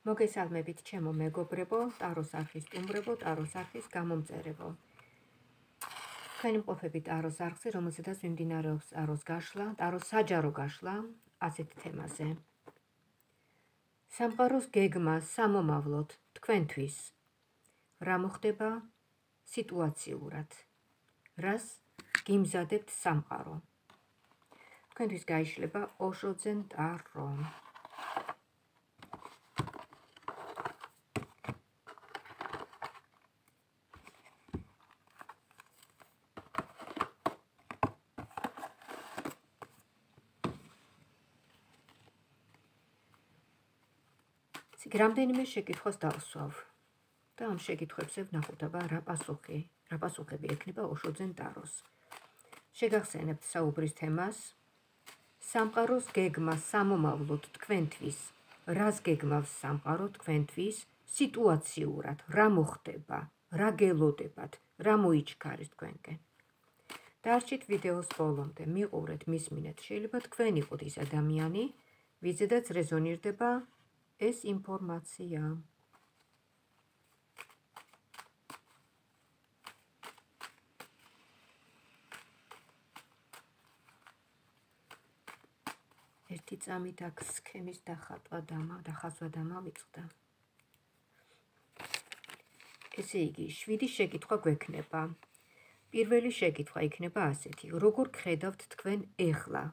მოგესალმებით ჩემო მეგობრებო, ტაროს არხის სტუმრებო, ტაროს არხის გამომწერებო. თქვენი მყოფები ტაროს არხზე, რომელზედაც მიმდინარეობს ტაროს გაშლა, ტაროს საჯარო გაშლა ასეთ თემაზე. სამყაროს გეგმა სამომავლოდ თქვენთვის რა მოხდება სიტუაციურად? რას გიმზადებთ სამყარო? თქვენთვის გაიშლება ოშოძენ ტარო. რამდენიმე შეკითხვას დავსვავ და ამ შეკითხვებზე ვნახოთ აბა რა პასუხები ექნება ოშოძენ ტაროს. შეგახსენებთ საუბრის თემას. სამყაროს გეგმა სამომავლოდ თქვენთვის, რას გეგმავს სამყარო თქვენთვის სიტუაციურად, რა მოხდება, რა გელოდებათ, რა მოიჩქარეს თქვენკენ. დარჩით ვიდეოს ბოლომდე, მიყურეთ, მისმინეთ, შეიძლება თქვენ იყოთ ის ადამიანი, ვიზედაც რეზონირდება ეს ინფორმაცია. ერთი წამით აქ სქემის დახაზვა დამავიწყდა. ესე იგი, 7 შეკითხვა გვექნება. პირველი შეკითხვა იქნება ასეთი: როგორ გხედავთ თქვენ ეხლა?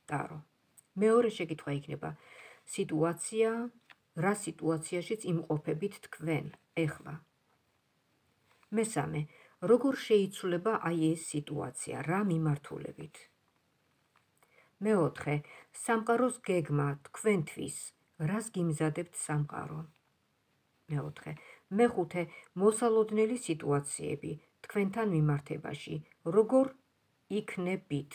ტარო. მეორე შეკითხვა იქნება სიტუაცია, რა სიტუაციაშიც იმყოფებით თქვენ ეხლა? მესამე, როგორ შეიცვლება აი ეს სიტუაცია, რა მიმართულებით? მეოთხე, სამყაროს გეგმა თქვენთვის, რას გიმზადებთ სამყარო? მეოთხე, მეხუთე, მოსალოდნელი სიტუაციები თქვენთან მიმართებაში, როგორ იქნებით?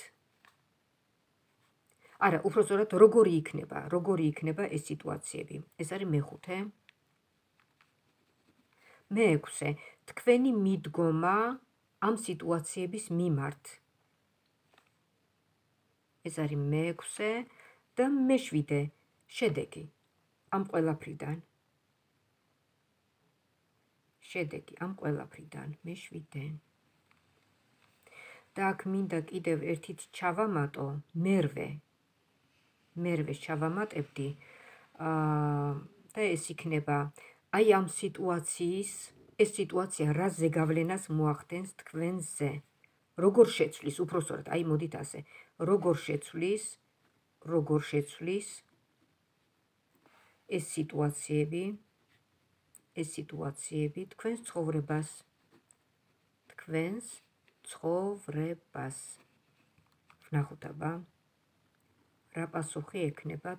არა, უბრალოდ როგორი იქნება ეს სიტუაციები. ეს არის მეხუთე. მეექვსე, თქვენი მიდგომა ამ სიტუაციების მიმართ. ეს არის მეექვსე და მეშვიდე, შედეგი ამ ყველაფრიდან. მეშვიდე. და აქ მინდა კიდევ ერთით ჩავამატო, მერვეს ჩავამატებდი და ეს იქნება აი ამ ეს სიტუაცია რა ზეგავლენას მოახდენს თქვენზე? როგორ შეცვლის, უпроსტად, აი მოდით ასე, როგორ შეცვლის ეს სიტუაციები თქვენს ცხოვრებას. ვნახოთ აბა რა პასუხი ექნება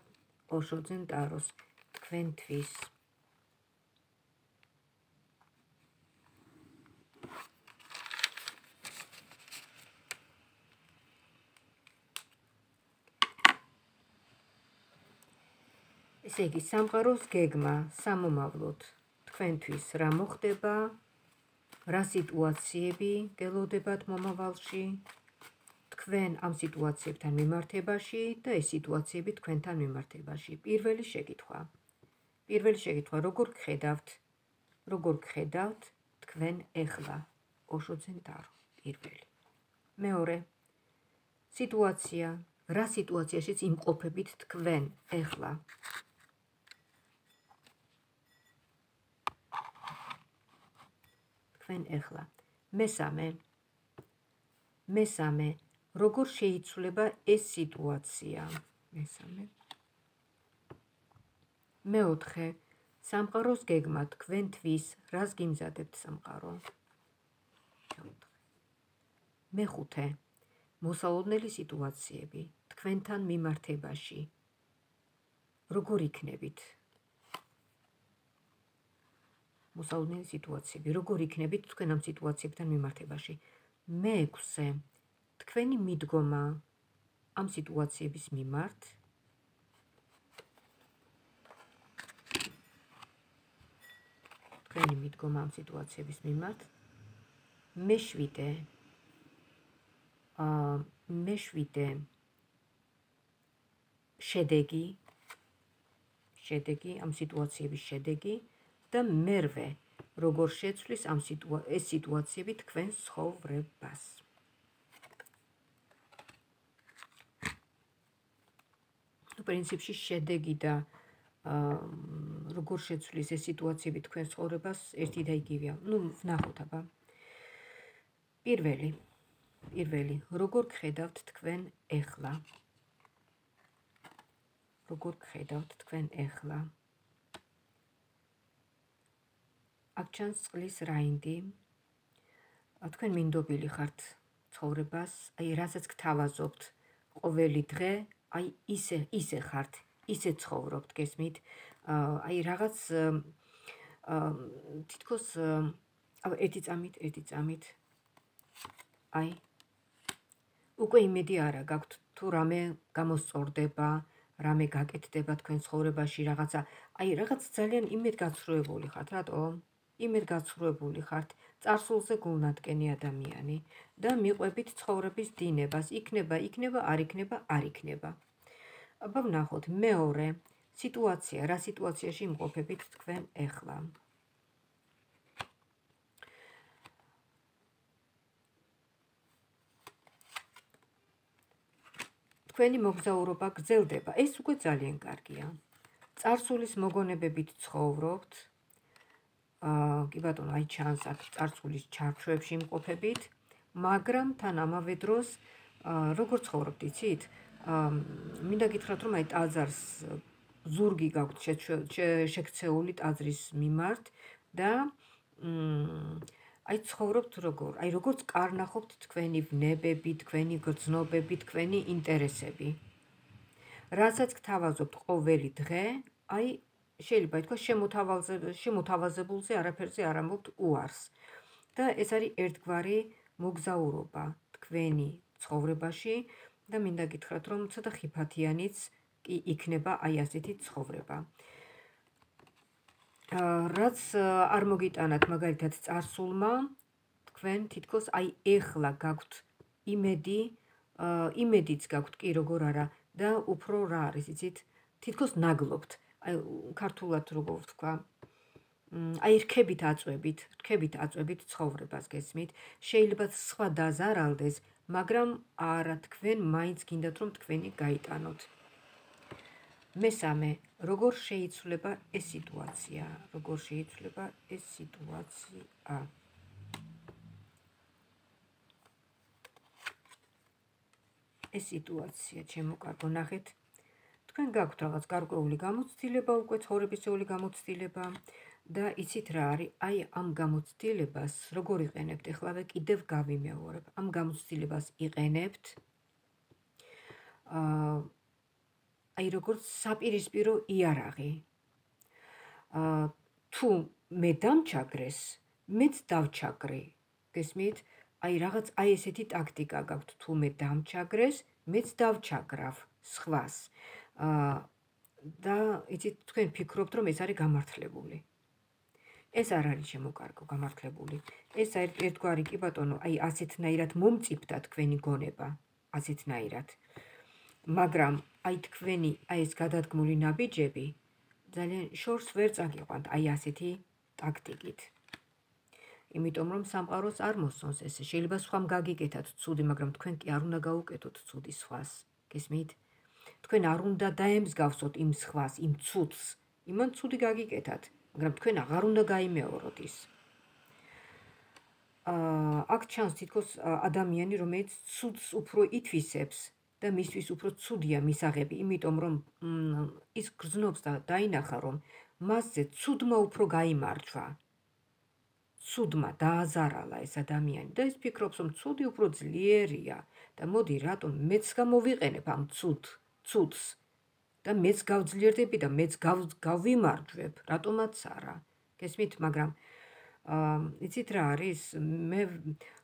ოშოძენ ტაროს თქვენთვის. ესე იგი, სამყაროს გეგმა სამომავლოდ თქვენთვის რა მოხდება, რა სიტუაციები გელოდებათ მომავალში, თქვენ ამ სიტუაციებთან მიმართებაში და ეს სიტუაციები თქვენთან მიმართებაში. პირველი შეკითხვა, როგორ გხედავთ თქვენ ეხლა? ოშოძენ ტარო, პირველი. მეორე, სიტუაცია, რა სიტუაციაშიც იმყოფებით თქვენ ეხლა? მესამე, როგორ შეიცვლება ეს სიტუაცია? მეოთხე, სამყაროს გეგმა თქვენთვის, რას გიმზადებთ სამყარო? მეხუთე, მოსალოდნელი სიტუაციები თქვენთან მიმართებაში, როგორ იქნებით? მოსალოდნელი სიტუაციები, როგორ იქნებით თქვენ ამ სიტუაციებთან მიმართებაში? მეექვსე, თქვენი მიდგომა ამ სიტუაციების მიმართ. მეშვიდე, შედეგი შედეგი, ამ სიტუაციების შედეგი და მერვე როგორ შეცვლის ეს სიტუაციები თქვენს ცხოვრებას. პრინციპში შედეგი და როგორ შეცვლის ეს სიტუაციები თქვენს ცხოვრებას ერთი და იგივეა. ვნახოთ აბა. პირველი, როგორ გხედავთ თქვენ ეხლა? როგორ გხედავთ თქვენ ეხლა? აქ ჩანს წყლის რაინდი. თქვენ მინდობილი ხართ ცხოვრებას, რასაც გთავაზობთ ყოველი დღე, ისე ხართ, ისე ცხოვრობთ, გესმით? რაღაც თითქოს ერთი წამით უკვე იმედი არა გაქვთ თუ რამე გამოსწორდება, რამე გაკეთდება თქვენ ცხოვრებაში, რაღაც ძალიან იმედგაცრუებული ხართ, რატომ? იმედგაცრუებული ხართ, წარსულზე გულნათკენი ადამიანი და მიყვებით ცხოვრების დინებას, იქნება, არ იქნება. აბა ვნახოთ, მეორე სიტუაცია, რა სიტუაციაში იმყოფებით თქვენ ეხლა? თქვენი მოგზაურობა გრძელდება, ეს უკვე ძალიან კარგია. წარსულის მოგონებებით ცხოვრობთ, კი ბატონო, აი ჩანს აქ წარსულის ჩარჩოებში იმყოფებით, მაგრამ თან ამავე დროს როგორ ცხოვრობთ, იცით? მინდა გითხრათ, რომ აი ტაძარს ზურგი გაქვთ შექცეული ტაძრის მიმართ და აი ცხოვრობთ როგორ? აი როგორც კარნახობთ თქვენი ვნებები, თქვენი გრძნობები, თქვენი ინტერესები. რასაც გთავაზობთ ყოველი დღე, აი შეიძლება ითქვა შემოთავაზებულზე არაფერზე არ ამბობთ უარს. და ეს არის ერთგვარი მოგზაურობა თქვენი ცხოვრებაში და მინდა გითხრათ, რომ ცოტა ხიფათიანიც კი იქნება აი ასეთი ცხოვრება. რაც არ მოგიტანათ მაგალითად წარსულმა, თქვენ თითქოს აი ეხლა გაქვთ იმედიც გაქვთ კი როგორ არა და უფრო რა არის, იცით? თითქოს ნაგლობთ. აი ქართულად როგორ ვთქვა? აი რქებით აწვევით ცხოვრებას, გესმით? შეიძლება სხვა დაზარალდეს, მაგრამ არა, თქვენ მაინც გინდათ რომ თქვენი გაიტანოთ. მესამე, როგორ შეიცვლება ეს სიტუაცია? ეს სიტუაცია, ჩემო კარგო, ნახეთ. თქვენ გაქვთ რაღაც გარკვეული გამოცდილება, უკვე ცხოვრებისეული გამოცდილება და იცით რა არის? აი ამ გამოცდილებას როგორ იყენებთ? ეხლავე კიდევ გავიმეორებ. ამ გამოცდილებას იყენებთ აი როგორც საპირისპირო იარაღი. თუ მე დამჩაგრეს, მეც დავჩაგრე. გესმით? აი რაღაც აი ესეთი ტაქტიკა გაქვთ, თუ მე დამჩაგრეს, მეც დავჩაგრავ სხვას. და იცით, თქვენ ფიქრობთ, რომ ეს არის გამართლებული. ეს არ არის შემოკარგო გამართლებული. ეს ერთგვარი კი ბატონო, აი ასეთნაირად მომწიფდა თქვენი გონება, ასეთნაირად. მაგრამ აი თქვენი აი ეს გადადგმული ნაბიჯები ძალიან შორს ვერ წაგიყვანთ აი ასეთი ტაქტიკით. იმიტომ რომ სამყაროს არ მოსწონს ესე. შეიძლება სხვამ გაგიკეთათ ცუდი, მაგრამ თქვენ კი არ უნდა გაუკეთოთ ცუდი სხვას. გესმით? თქვენ არ უნდა დაემსგავსოთ იმ სხვას, იმ ცუდს. იმან ცუდი გაგიკეთათ, მაგრამ თქვენ აღარ უნდა გაიმეოროთ ის. აქ ჩანს თითქოს ადამიანი, რომელიც ცუდს უფრო ითვისებს და მისთვის უფრო ცუდია მისაღები, იმიტომ რომ ის გრძნობს და დაინახა, რომ მასზე ცუდმა უფრო გაიმარჯვა. ცუდმა დააზარალა ეს ადამიანი და ის ფიქრობს, რომ ცუდი უფრო ძლიერია და მოდი რატომ მეც გამოვიყენებ ამ ცუდს და მეც გავძლიერდები და მეც გავიმარჯვებ, რატომაც არა. გესმით, მაგრამ იცით რა არის? მე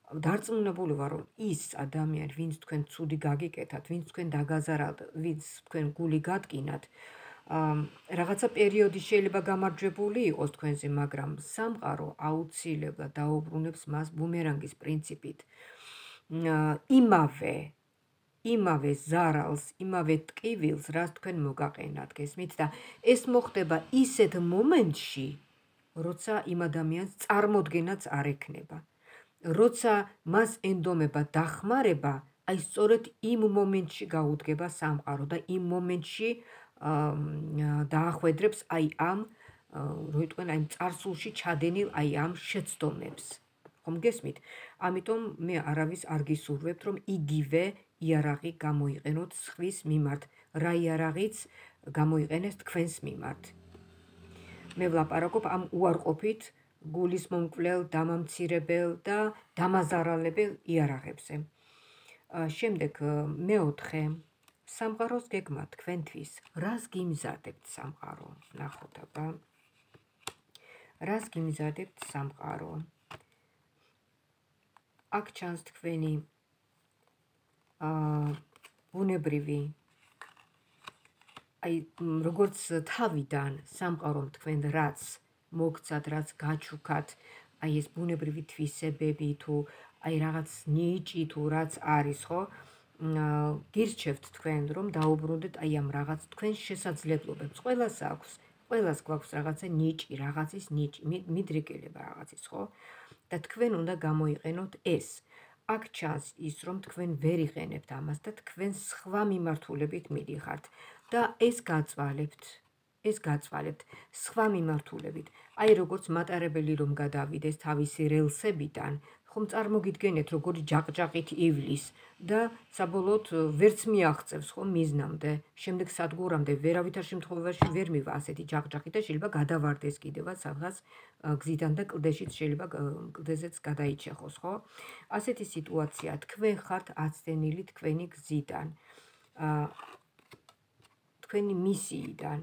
დარწმუნებული ვარ, რომ ის ადამიანი, ვინც თქვენ ცუდი გაგიკეთათ, ვინც თქვენ დაგაზარალთ, ვინც თქვენ გული გადგინათ, რაღაცა პერიოდი შეიძლება გამარჯვებული იყოს თქვენზე, მაგრამ სამყარო აუცილებლად დაუბრუნებს მას ბუმერანგის პრინციპით. იმავე იმავე ზარალს, იმავე ტკივილს, რაც თქვენ მოგაყენათ, გესმით? და ეს მოხდება ისეთ მომენტში, როცა იმ ადამიანს წარმოდგენაც არ ექნება. როცა მას ენდომება დახმარება, აი სწორედ იმ მომენტში გაუდგება სამყარო და იმ მომენტში დაახვედრებს აი ამ როიტყვენ აი წარსულში ჩადენილ აი ამ შეცდომებს. ხომ გესმით? ამიტომ მე არავის არ გისურვებთ, რომ იგივე იარაღი გამოიყენოთ სხვის მიმართ, რა იარაღიც გამოიყენეს თქვენს მიმართ. მე ვლაპარაკობ ამ უარყოფით გულის მომკვლელ, დამამცირებელ და დამაზარალებელ იარაღებზე. შემდეგ მეოთხე, სამყაროს გეგმა თქვენთვის, რას გიმზადებთ სამყარო? ნახოთ აბა. რას გიმზადებთ სამყარო? აქ ჩანს თქვენი ბუნებრივი აი როგორც თავიდან სამყარომ თქვენ რაც მოგცათ, რაც გაჩუქათ, აი ეს ბუნებრივი თვისებები თუ აი რაღაც ნიჭი თუ რაც არის, ხო? გირჩევთ თქვენ რომ დაუბრუნდეთ აი ამ რაღაც თქვენს შესაძლებლობებს. ყველას გვაქვს რაღაცა ნიჭი, რაღაცის ნიჭი, მიდრეკილება რაღაცის, ხო? და თქვენ უნდა გამოიყენოთ ეს. აქ ჩანს ის, რომ თქვენ ვერ იყენებთ ამას და თქვენ სხვა მიმართულებით მიდიხართ და ეს გაწვალებთ სხვა მიმართულებით. აი როგორც მატარებელი რომ გადავიდეს თავისი რელსებიდან, ხომ წარმოგიდგენთ როგორი ჯაყჯაყით ივლის და საბოლოოდ ვერც მიაღწევს ხო მიზნამდე, შემდეგ სადგურამდე ვერავითარ შემთხვევაში ვერ მივა ასეთი ჯაყჯაყი და შეიძლება გადავარდეს კიდევაც სადღაც გზიდან და კლდეშიც შეიძლება კლდეზეც გადაიჩეხოს, ხო? ასეთი სიტუაცია, თქვენ ხართ აცდენილი თქვენი გზიდან, თქვენი მისიიდან,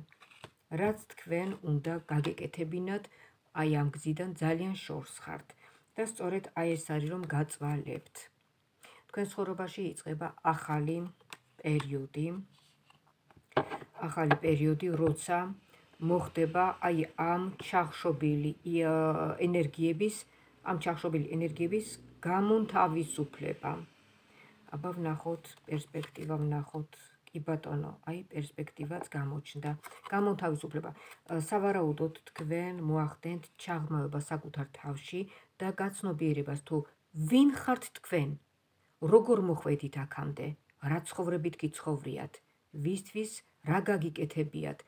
რაც თქვენ უნდა გაგეკეთებინათ აი ამ გზიდან ძალიან შორს ხართ. და სწორედ აი ეს არის რომ გაწვალებთ. თქვენ ცხოვრებაში იწყება ახალი პერიოდი, როცა მოხდება აი ამ ჩახშობილი ენერგიების გამონთავისუფლება. აბა ვნახოთ პერსპექტივა, ვნახოთ კი ბატონო, აი პერსპექტივაც გამოჩნდა. გამონთავისუფლება. სავარაუდოდ თქვენ მოახდენთ ჩაღრმავება საკუთარ თავში და გაცნობიერებას თუ ვინ ხართ თქვენ, როგორ მოხვედით აქამდე, რა ცხოვრებით გიცხოვრიათ, ვისთვის რა გაგიკეთებიათ,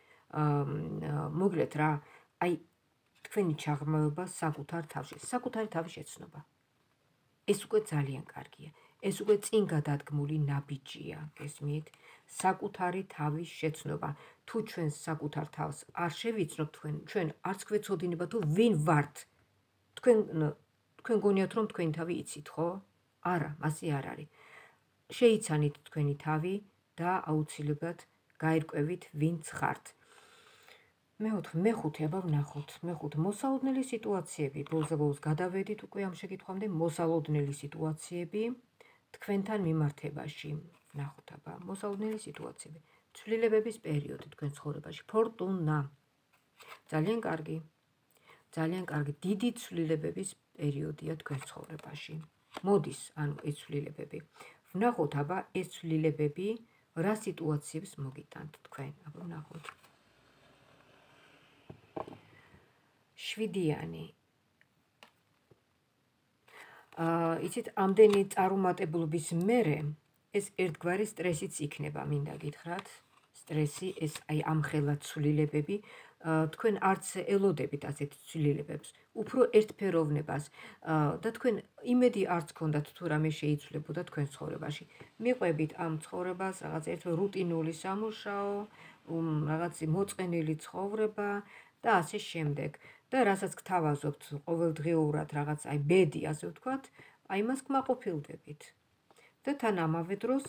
მოგლეთ რა, აი თქვენი ჩაღრმავება საკუთარ თავში, საკუთარი თავის შეცნობა. ეს უკვე ძალიან კარგია. ეს უკვე წინ გადადგმული ნაბიჯია, გესმით? საკუთარი თავის შეცნობა. თუ ჩვენ საკუთარ თავს არ შევიცნობთ, ჩვენ არც გვეცოდინება თუ ვინ ვართ. თქვენ გონიათ რომ თქვენი თავი იცით, ხო? არა, მასე არ არის. შეიცანით თქვენი თავი და აუცილებლად გაირკვევით ვინც ხართ. მეხუთე, აბა ვნახოთ. მოსალოდნელი სიტუაციები. ბოლოს გადავედით უკვე ამ შეკითხვამდე. მოსალოდნელი სიტუაციები თქვენთან მიმართებაში. ვნახოთ აბა. მოსალოდნელი სიტუაციები. ცვლილებების პერიოდი თქვენ ცხოვრებაში. ფორტუნა. ძალიან კარგი. ძალიან კარგი. დიდი ცვლილებების პერიოდია თქვენ ცხოვრებაში. მოდის, ანუ ეს ცვლილებები. ვნახოთ აბა ეს ცვლილებები რა სიტუაციებს მოგიტანთ თქვენ. აბა ვნახოთ. შვიდიანი. იცით, ამდენი წარუმატებლობის მერე ეს ერთგვარი სტრესიც იქნება, მინდა გითხრათ. სტრესი, ეს აი ამხელა ცვლილებები, თქვენ არც ელოდებით ასეთ ცვლილებებს, უფრო ერთფეროვნებას და თქვენ იმედი არც გქონდათ თუ რამე შეიცვლებოდა თქვენ ცხოვრებაში. მიყვებით ამ ცხოვრებას, რაღაც ერთ რუტინული სამუშაო, რაღაც მოწყენილი ცხოვრება და ასე შემდეგ. და რასაც გთავაზობთ ყოველდღიურად რაღაც აი ბედი, ასე ვთქვათ, აი მას კმაყოფილდებით. და თან ამავე დროს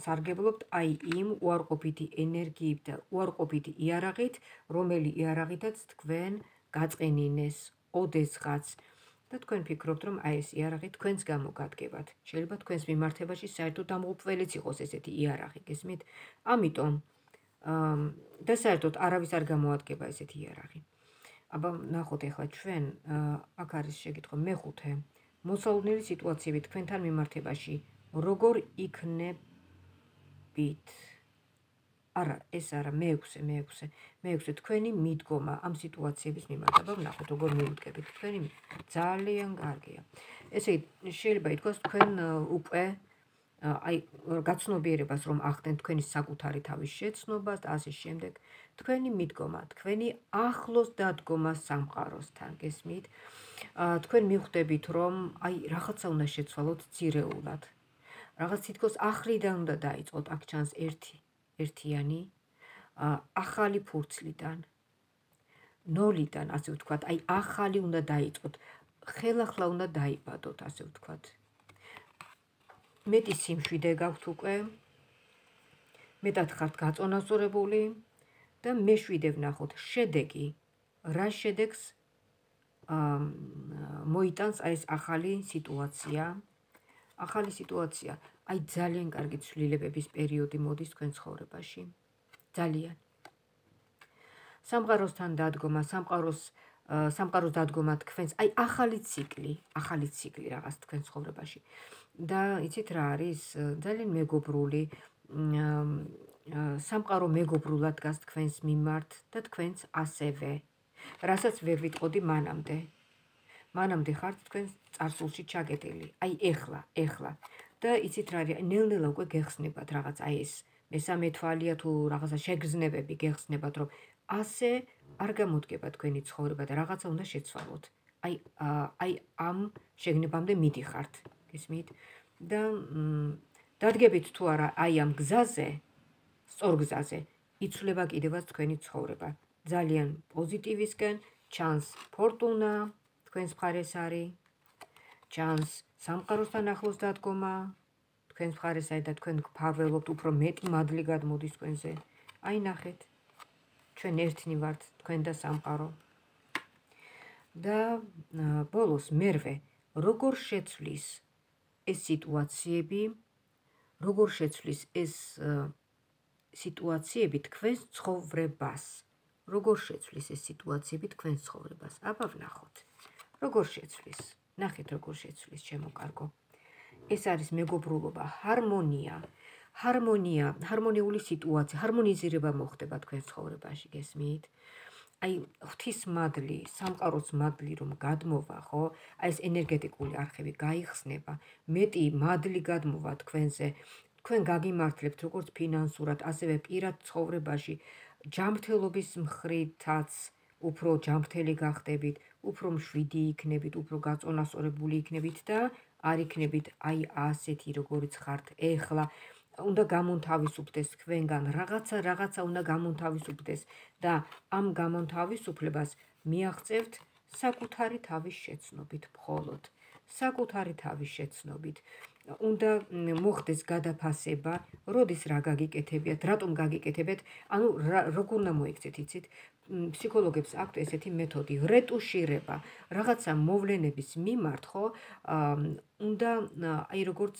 სარგებლობთ აი იმ უარყოფითი ენერგიით და უარყოფითი იარაღით, რომელი იარაღითაც თქვენ გაწყენინეს ოდესღაც და თქვენ ფიქრობთ, რომ აი ეს იარაღი თქვენს გამო გადგებათ. შეიძლება თქვენს მიმართებაში საერთოდ დამღუპველიც იყოს ესეთი იარაღი, გესმით? ამიტომ და საერთოდ არავის არ გამოადგება ესეთი იარაღი. აბა ნახოთ ახლა ჩვენ აქ არის შეკითხვა მეხუთე. მოსალოდნელი სიტუაციები თქვენთან მიმართებაში როგორ იქნება მიუყვებით. არა, ეს არა, მეექვსე თქვენი მიდგომა ამ სიტუაციების მიმართ. აბა ვნახოთ, როგორ მიუდგებით. თქვენი ძალიან კარგია. ესე იგი, შეიძლება ითქვას, თქვენ უკვე აი გაცნობიერებას რომ ახდენ თქვენი საკუთარი თავის შეცნობას და ასე შემდეგ, თქვენი მიდგომა, თქვენი ახლოს დადგომა სამყაროსთან, გესმით? თქვენ მიხვდებით, რომ აი რაღაცა უნდა შეცვალოთ ძირეულად. რაღაც თითქოს ახლიდან უნდა დაიწყოთ, აქ ჩანს ერთიანი, ახალი ფურცლიდან, ნოლიდან, ასე ვთქვათ, აი ახალი უნდა დაიწყოთ, ხელახლა უნდა დაიბადოთ, ასე ვთქვათ. მეტი სიმშვიდე გაქვთ უკვე, მეტად ხართ გაწონასწორებული და მეშვიდე ვნახოთ შედეგი, რა შედეგს მოიტანს აი ეს ახალი სიტუაცია. ახალი სიტუაცია, აი ძალიან კარგი ცვლილებების პერიოდი მოდის თქვენ ცხოვრებაში. ძალიან. სამყაროსთან დადგომა, სამყაროს დადგომა თქვენს, აი ახალი ციკლი რაღაც თქვენ ცხოვრებაში. და იცით რა არის? ძალიან მეგობრული, სამყარო მეგობრულად დგას თქვენს მიმართ და თქვენს ასევე. რასაც ვერ ვიტყოდი მანამდე. მანამდე ხართ თქვენ წარსულში ჩაგეტილი. აი ეხლა. და იცით რა არის? ნელ-ნელა უკვე გეხსნებათ რაღაც აი ეს მესამე თვალია თუ რაღაცა შეგრძნებები გეხსნებათ, რომ ასე არ გამოდგება თქვენი ცხოვრება და რაღაცა უნდა შეცვალოთ. აი ამ შეგნებამდე მიდიხართ, გესმით? და დადგებით თუ არა აი ამ გზაზე, სწორ გზაზე, იცვლება კიდევაც თქვენი ცხოვრება. ძალიან პოზიტივისკენ, ჩანს ფორტუნა, თქვენს მხარეს არის, ჩანს სამყაროსთან ახლოს დადგომა, თქვენს მხარეს არის და თქვენ გფარველობთ, უფრო მეტი მადლი გადმოდის თქვენზე. აი ნახეთ, ჩვენ ერთნი ვართ, თქვენ და სამყარო. და ბოლოს მერვე, როგორ შეცვლის ეს სიტუაციები, როგორ შეცვლის ეს სიტუაციები თქვენს ცხოვრებას. როგორ შეცვლის ეს სიტუაციები თქვენს ცხოვრებას. აბა ვნახოთ. როგორ შეცვლის? ნახეთ როგორ შეცვლის, ჩემო კარგო. ეს არის მეგობრულობა, ჰარმონიული სიტუაცია, ჰარმონიზირება მოხდება თქვენს ცხოვრებაში, გესმით? აი ღვთის მადლი, სამყაროს მადლი რომ გადმოვა, ხო? აი ეს ენერგეტიკული არხები გაიხსნება, მეტი მადლი გადმოვა თქვენზე. თქვენ გაგიმართლებთ როგორც ფინანსურად, ასევე პირად ცხოვრებაში, ჯანმრთელობის მხრითაც უფრო ჯანმრთელი გახდებით, უფრო მშვიდი იქნებით, უფრო გაწონასწორებული იქნებით და არ იქნებით აი ასეთი როგორიც ხართ ეხლა. უნდა გამონთავისუფლდეს თქვენგან რაღაცა უნდა გამონთავისუფლდეს და ამ გამონთავისუფლებას მიაღწევთ საკუთარი თავის შეცნობით მხოლოდ. საკუთარი თავის შეცნობით. უნდა მოხდეს გადაფასება, როდის რა გაგიკეთებიათ, რატომ გაგიკეთებიათ, ანუ როგორ უნდა მოიქცეთ, იცით? ფსიქოლოგებს აქვთ ესეთი მეთოდი, რეტუშირება, რაღაცა მოვლენების მიმართ, ხო? უნდა აი როგორც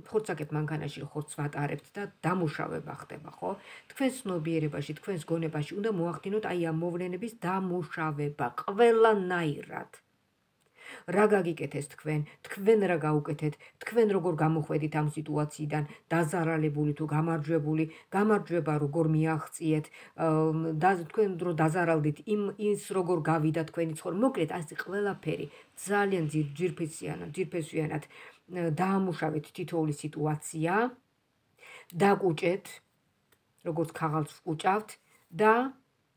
ხორცაკებ მანქანაში ხორცს ვატარებთ და დამუშავება ხდება, ხო? თქვენს ცნობიერებაში, თქვენს გონებაში უნდა მოახდინოთ აი ამ მოვლენების დამუშავება, ყველანაირად. რა გაგიკეთეს თქვენ რა გაუკეთეთ, თქვენ როგორ გამოხვედით ამ სიტუაციიდან, დაზარალებული თუ გამარჯვებული, გამარჯვება როგორ მიაღწიეთ, თქვენ რო დაზარალდით, ის როგორ გავიდა თქვენი ცხოვრება, მოკლედ ასე ყველაფერი ძალიან ძირფესვიანად დაამუშავეთ თითოეული სიტუაცია, დაგუჭეთ, როგორც ქაღალდს ვკუჭავთ და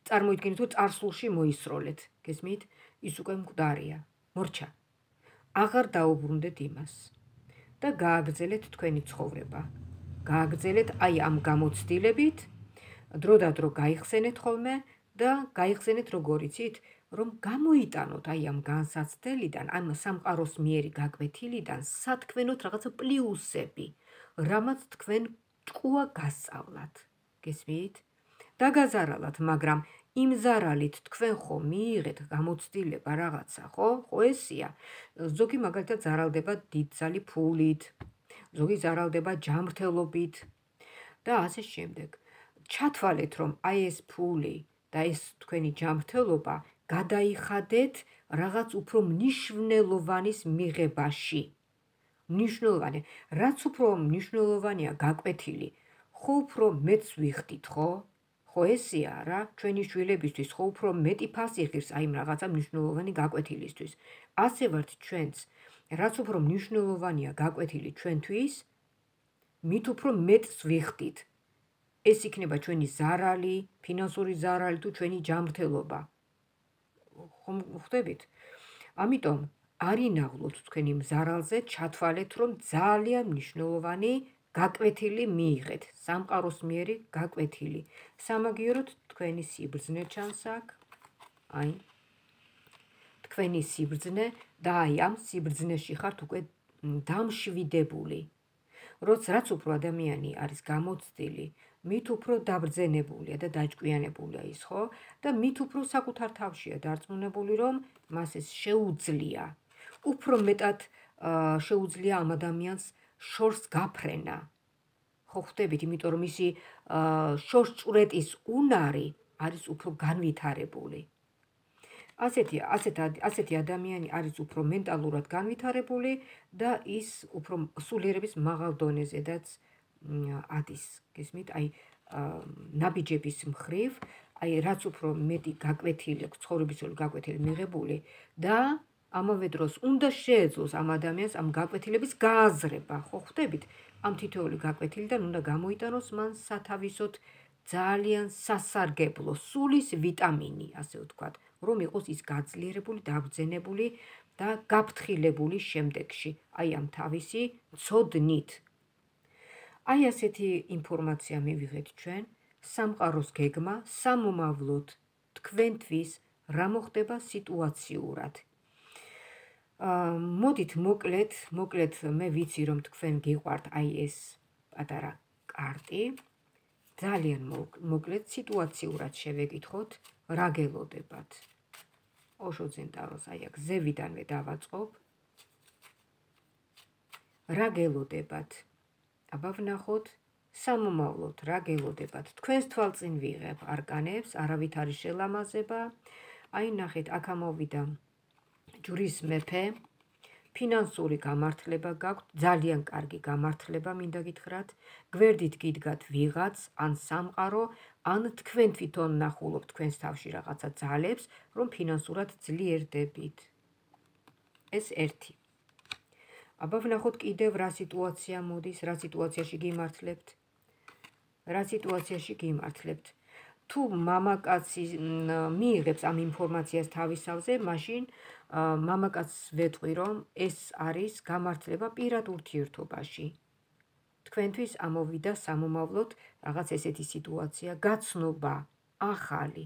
წარმოიდგინეთ, რომ წარსულში მოისროლეთ, გესმით? ის უკვე მკვდარია. მორჩა, აღარ დაუბრუნდეთ იმას და გააგრძელეთ თქვენი ცხოვრება. გააგრძელეთ აი ამ გამოცდილებით, დრო და დრო გაიხსენეთ ხოლმე და გაიხსენეთ როგორ იცით, რომ გამოიტანოთ აი ამ განსაცდელიდან, ამ სამყაროს მიერი გაკვეთილიდან სათქმენოთ რაღაცა პლიუსები, რამაც თქვენ ჭკუა გასწავლათ. გესმით? დაგაზარალათ, მაგრამ იმ ზარალით თქვენ ხო მიიღეთ გამოცდილება რაღაცა, ხო? ხო ესია. ზოგი მაგალითად ზარალდება დიდძალი ფულით, ზოგი ზარალდება ჯანმრთელობით და ასე შემდეგ. ჩათვალეთ, რომ აი ეს ფული და ეს თქვენი ჯანმრთელობა გადაიხადეთ რაღაც უფრო მნიშვნელოვანის მიღებაში. მნიშვნელოვანი, რაც უფრო მნიშვნელოვანია გაკვეთილი, ხო უფრო მეც ვიხდით, ხო? ხო ესეა რა, ჩვენი შვილებისთვის ხო უფრო მეტი ფასი ღირს აი იმ რაღაცა მნიშვნელოვანი გაკვეთილისთვის. ასე ვართ ჩვენც, რაც უფრო მნიშვნელოვანია გაკვეთილი ჩვენთვის, მით უფრო მეტს ვიხდით. ეს იქნება ჩვენი ზარალი, ფინანსური ზარალი თუ ჩვენი ჯანმრთელობა. ხომ ხვდებით? ამიტომ არ ინაღვლოთ თქვენ იმ ზარალზე, ჩათვალეთ, რომ ძალიან მნიშვნელოვანი გაკვეთილი მიიღეთ, სამყაროსმიერი გაკვეთილი. სამაგიეროდ თქვენი სიბრძნე ჩანს აქ, აი, თქვენი სიბრძნე და აი ამ სიბრძნეში ხართ უკვე დამშვიდებული. რაც უფრო ადამიანი არის გამოცდილი, მით უფრო დაბრძენებულია და დაჭკვიანებულია ის, ხო? და მით უფრო საკუთარ თავშია დარწმუნებული, რომ მას ეს შეუძლია. უფრო მეტად შეუძლია ამ ადამიანს შორს გაფრენა. ხო ხვდებით, იმიტომ რომ მისი შორსჭვრეტის უნარი არის უფრო განვითარებული. ასეთი ადამიანი არის უფრო მენტალურად განვითარებული და ის უფრო სულიერების მაღალ დონეზედაც ადის, გესმით, აი ნაბიჯების მხრივ, აი რაც უფრო მეტი გაკვეთილი, ცხოვრებისეული გაკვეთილი მიღებული და ამავე დროს უნდა შეეძლოს ამ ადამიანს ამ გაკვეთილების გააზრება, ხო ხვდებით? ამ თითოეული გაკვეთილიდან უნდა გამოიტანოს მან სათავისოდ ძალიან სასარგებლო სულის ვიტამინი, ასე ვთქვათ, რომ იყოს ის გაძლიერებული, დაბრძენებული და გაფრთხილებული შემდეგში, აი ამ თავისი ცოდნით. აი ასეთი ინფორმაცია მივიღეთ ჩვენ, სამყაროს გეგმა სამომავლოდ თქვენთვის რა მოხდება სიტუაციურად. მოდით მოკლედ მე ვიცი რომ თქვენ გიყვართ აი ეს პატარა კარტი. ძალიან მოკლედ სიტუაციურად შევეკითხოთ, რა გელოდებათ. ოშოძენ ტაროს აი აქ ზევიდანვე დავაწყობ. რა გელოდებათ? აბა ვნახოთ სამომავლოდ რა გელოდებათ. თქვენს თვალწინ ვიღებ არკანებს, არავით არის შელამაზება. აი ნახეთ, აქ ამოვიდა ჯვრის მეფე, ფინანსური გამართლება გაქვთ, ძალიან კარგი გამართლება მინდა გითხრათ, გვერდით გიდგათ ვიღაც, ან სამყარო, ან თქვენ თვითონ ნახულობთ თქვენს თავში რაღაცა ძალებს, რომ ფინანსურად ძლიერდებით. ეს ერთი. აბა ვნახოთ კიდევ რა სიტუაცია მოდის, რა სიტუაციაში გიმართლებთ. თუ მამაკაცი მიიღებს ამ ინფორმაციას თავისავზე, მაშინ მამაკაცს ვეტყვი, რომ ეს არის გამართლება პირად ურთიერთობაში. თქვენთვის ამოვიდა სამომავლოდ რაღაც ესეთი სიტუაცია, გაცნობა, ახალი,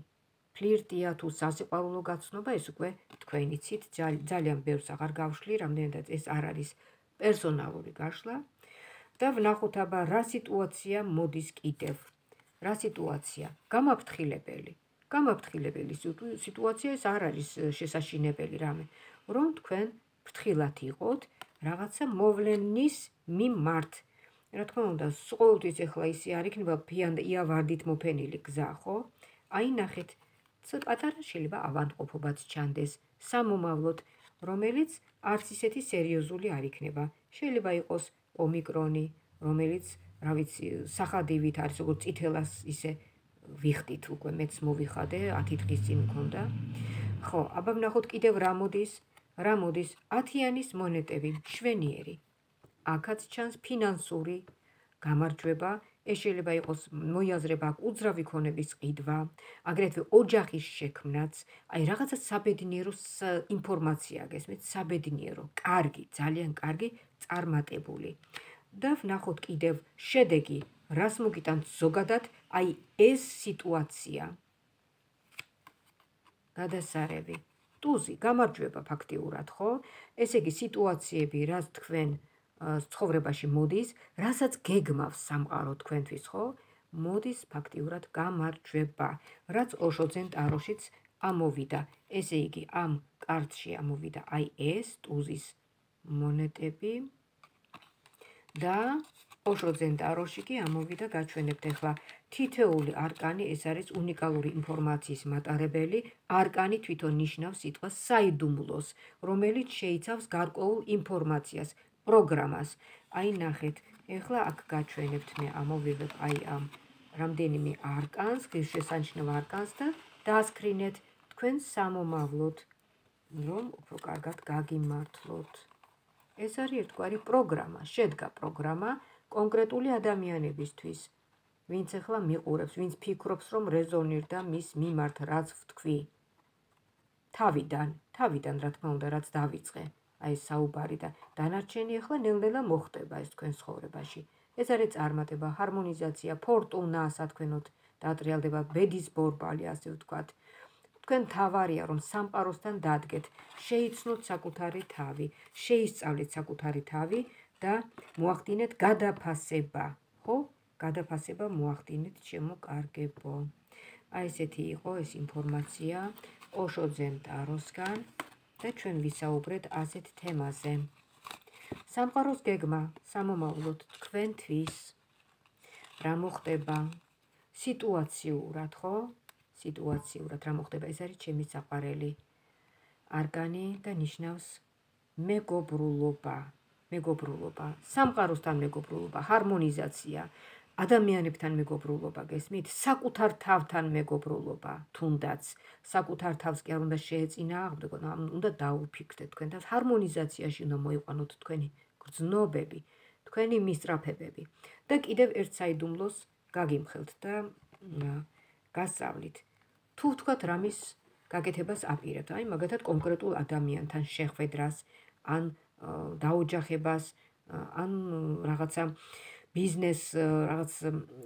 ფლირტია თუ სასიყვარულო გაცნობა, ეს უკვე თქვენ იცით, ძალიან ბევრს აღარ გავშლი, რამდენადაც ეს არ არის პერსონალური გაშლა. და ვნახოთ აბა რა სიტუაცია მოდის კიდევ. რა სიტუაცია? გამაფრთხილებელი სიტუაცია ეს არ არის შესაშინებელი რამე, რომ თქვენ ფრთხილად იყოთ რაღაცა მოვლენის მიმართ. რა თქმა უნდა, ყოველთვის ეხლა ისე არ იქნება იავარდით მოფენილი გზა, ხო? აი ნახეთ, პატარა შეიძლება ავადმყოფობაც ჩანდეს სამომავლოდ, რომელიც არც ისეთი სერიოზული არ იქნება. შეიძლება იყოს ომიკრონი, რომელიც, რა ვიცი, სახადივით არის, როგორც წითელას ისე ვიხდით უკვე, მეც მოვიხადე, 10 დღის წინ მქონდა. ხო, აბა ვნახოთ კიდევ რა მოდის. 10-იანის მონეტები, მშვენიერი. აქაც ჩანს ფინანსური გამარჯვება, ეს შეიძლება იყოს მოიაზრება აქ უძრავი ქონების ყიდვა, აგრეთვე ოჯახის შექმნაც, აი რაღაცა საბედნიერო ინფორმაცია გესმით, საბედნიერო, კარგი, ძალიან კარგი, წარმატებული. და ვნახოთ კიდევ შედეგი, რას მოგიტანთ ზოგადად, აი ეს სიტუაცია. გადასარევი, ტუზი, გამარჯვება ფაქტიურად, ხო? ესე იგი სიტუაციები, რაც თქვენ ცხოვრებაში მოდის, რასაც გეგმავს სამყარო თქვენთვის, ხო? მოდის ფაქტიურად გამარჯვება, რაც ოშოძენ ტაროშიც ამოვიდა. ესე იგი, ამ კარტში ამოვიდა აი ეს ტუზის მონეტები და ოშოძენ ტაროში კი ამოვიდა, გაჩვენებთ ახლა თითეული არკანი, ეს არის უნიკალური ინფორმაციის მატარებელი, არკანი თვითონ ნიშნავს სიტყვას საიდუმლოს, რომელიც შეიცავს გარკვეულ ინფორმაციას, პროგრამას. აი ნახეთ, ეხლა აქ გაჩვენებთ მე ამოვიღებ აი ამ რამდენიმე არკანს, ღირსშესანიშნავ არკანს და დაასკრინეთ თქვენ სამომავლოდ, რომ უფრო კარგად გაგიმართლოთ. ეს არის ერთგვარი პროგრამა, შედგა პროგრამა კონკრეტული ადამიანებისთვის, ვინც ახლა მიყურებს, ვინც ფიქრობს, რომ რეზონირდა მის მიმართ, რაც ვთქვი. თავიდან, რა თქმა უნდა, რაც დავიწყე, აი ეს საუბარი და დანარჩენი ახლა ნელ-ნელა მოხდება ეს თქვენ ცხოვრებაში. ეს არის წარმატება, ჰარმონიზაცია, ფორტუნა, სათქვენოთ დაატრიალდება, ბედის ბორბალი, ასე ვთქვათ. თქვენ თავარია, რომ სამყაროსთან დადგეთ, შეიცნოთ საკუთარი თავი, შეისწავლეთ საკუთარი თავი და მოახდინეთ გადაფასება, ხო? გადაფასება მოახდინეთ, შემოკარგებო. აი ესეთი იყო ეს ინფორმაცია ოშო ძემ ტაროსგან და ჩვენ ვისაუბრეთ ასეთ თემაზე. სამყაროს გეგმა, სამომავლოდ თქვენთვის რა მოხდება სიტუაციურად, ხო? სიტუაციურად რა მოხდება, ეს არის ჩემი საყვარელი არკანი და ნიშნავს მეგობრულობა, სამყაროსთან მეგობრულობა, ჰარმონიზაცია, ადამიანებთან მეგობრულობა, გესმით? საკუთარ თავთან მეგობრულობა, თუნდაც საკუთარ თავს კი არ უნდა შეეწინააღმდეგოთ, უნდა დაუფიქრდეთ თქვენ თავს, ჰარმონიზაციაში უნდა მოიყვანოთ თქვენი გრძნობები, თქვენი მისწრაფებები და კიდევ ერთ საიდუმლოს გაგიმხელთ და გასწავლით. თუ ვთქვათ რამის გაკეთებას აპირებთ, აი მაგათად კონკრეტულ ადამიანთან შეხვედრას, ან დაოჯახებას, ან რაღაცა ბიზნეს რაღაც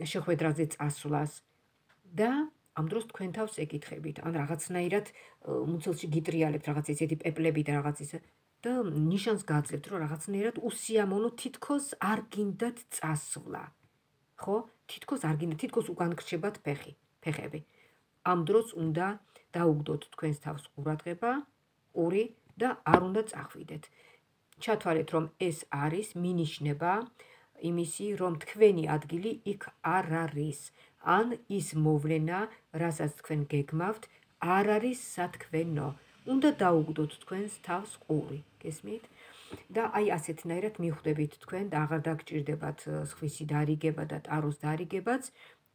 შეხვედრაზე წასვლას და ამ დროს თქვენ თავს ეკითხებით, ან რაღაცნაირად მუცელში გიტრიალებთ რაღაც ესეთი პეპლები და რაღაც ისე და ნიშანს გაძლევთ, რომ რაღაცნაირად უსიამოვნო თითქოს არ გინდათ წასვლა. ხო? თითქოს არ გინდათ, თითქოს უკან გრჩებათ ფეხები. ამ დროს უნდა დაუგდოთ თქვენს თავს ყურადღება, ყური და არ უნდა წახვიდეთ. ჩათვალეთ, რომ ეს არის მინიშნება იმისი, რომ თქვენი ადგილი იქ არ არის, ან ის მოვლენა, რასაც თქვენ გეგმავთ, არ არის სათქვენო. უნდა დაუგდოთ თქვენს თავს ყური, გესმით? და აი ასეთნაირად მიხვდებით თქვენ და აღარ დაგჭირდებათ სხვისი დარიგება და ტაროს დარიგებაც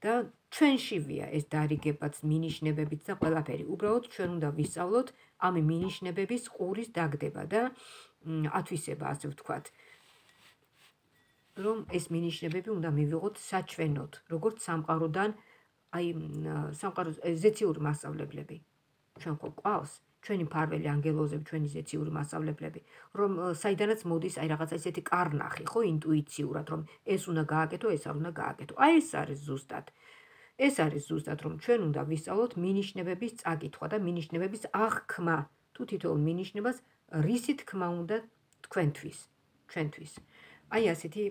და ჩვენშივია ეს დარიგებაც, მინიშნებებიც და ყველაფერი. უბრალოდ ჩვენ უნდა ვისწავლოთ ამ მინიშნებების ყურის დაგდება და ათვისება, ასე ვთქვათ. რომ ეს მინიშნებები უნდა მივიღოთ საჩვენოდ, როგორც სამყაროდან, აი სამყაროს ზეციური მასწავლებლები. ჩვენ ხო ყავს, ჩვენი მფარველი ანგელოზები, ჩვენი ზეციური მასწავლებლები, რომ საიდანაც მოდის აი რაღაცა ესეთი კარნახი, ხო, ინტუიციურად, რომ ეს უნდა გააკეთო, ეს არ უნდა გააკეთო. აი ეს არის ზუსტად, რომ ჩვენ უნდა ვისწავლოთ მინიშნებების წაკითხვა და მინიშნებების აღქმა. თუ თითოეულ მინიშნებას რისი თქმა უნდა თქვენთვის, ჩვენთვის. აი ასეთი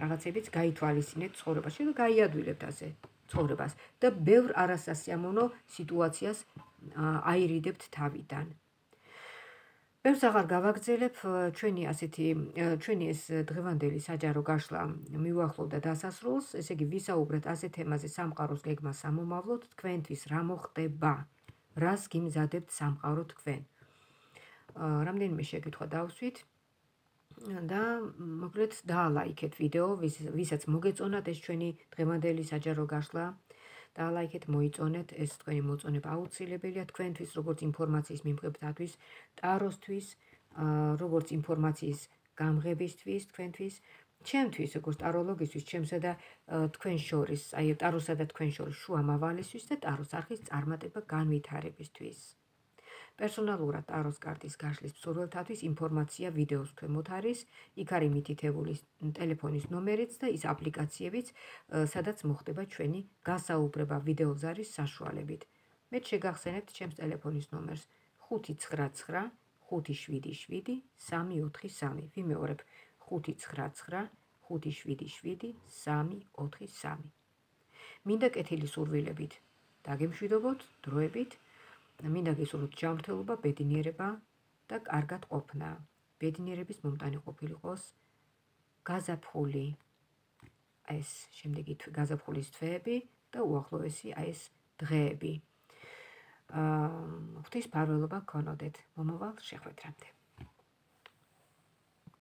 რაღაცებიც გაითვალისწინეთ ცხოვრებაში და გაიადვილებთ ასე ცხოვრებას და ბევრ არასასიამოვნო სიტუაციას აირიდებთ თავიდან. ბევრს აღარ გავაგრძელებ, ჩვენი ეს დღევანდელი საჯარო გაშლა მივუახლოვდა დასასრულს, ესე იგი ვისაუბრეთ ასეთ თემაზე სამყაროს გეგმა სამომავლოდ, თქვენთვის რა მოხდება, რას გიმზადებთ სამყარო თქვენ. რამდენიმე შეკითხვა დავსვით და მოკლედ დაალაიქეთ ვიდეო, ვისაც მოგეწონათ ეს ჩვენი დღევანდელი საჯარო გაშლა, დაალაიქეთ, მოიწონეთ, ეს თქვენი მოწონება აუცილებელია თქვენთვის, როგორც ინფორმაციის მიმღებთათვის, ტაროსთვის, როგორც ინფორმაციის გამღებისთვის თქვენთვის, ჩემთვის, როგორც ტაროლოგისთვის, ჩემსა და თქვენ შორის, აი ტაროსა და თქვენ შორის შუამავალისთვის და ტაროს არხის წარმატება განვითარებისთვის. პერსონალურად ტაროს კარტის გაშლის მსურველთათვის ინფორმაცია ვიდეოს ქვემოთ არის, იქ არის მითითებული ტელეფონის ნომერიც და ის აპლიკაციებიც, სადაც მოხდება ჩვენი გასაუბრება ვიდეოს არის საშუალებით. მეც შეგახსენებთ ჩემს ტელეფონის ნომერს 599 577 343. ვიმეორებ 599 577 343. მინდა კეთილი სურვილებით დაგემშვიდობოთ დროებით. მინდა გისურვოთ ჯანმრთელობა, ბედნიერება და კარგად ყოფნა. ბედნიერების მომტანი ყოფილიყოს გაზაფხული. ეს შემდეგი გაზაფხულის თვეები და უახლოესი ეს დღეები. ღვთის ფარველობა გქონოდეთ მომავალ შეხვედრამდე.